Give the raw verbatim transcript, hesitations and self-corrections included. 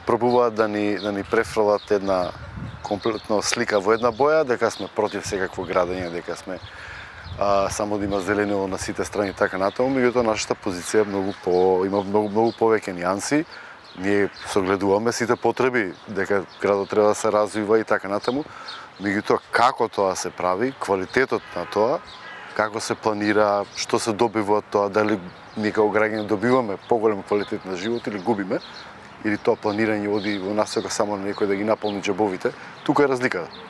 пробуваат да ни да ни префрлат една комплетно слика во една боја, дека сме против секакво градење, дека сме а, само да има зелено на сите страни и така натаму, меѓутоа нашата позиција е многу по има многу многу повеќе нијанси. Ние согледуваме сите потреби дека градот треба да се развива и така натаму, меѓутоа како тоа се прави, квалитетот на тоа, како се планира, што се добива од тоа, дали ние како граѓани добиваме поголем квалитет на живот или губиме, или тоа планирање оди во насока само на некој да ги наполни џебовите, тука е разликата.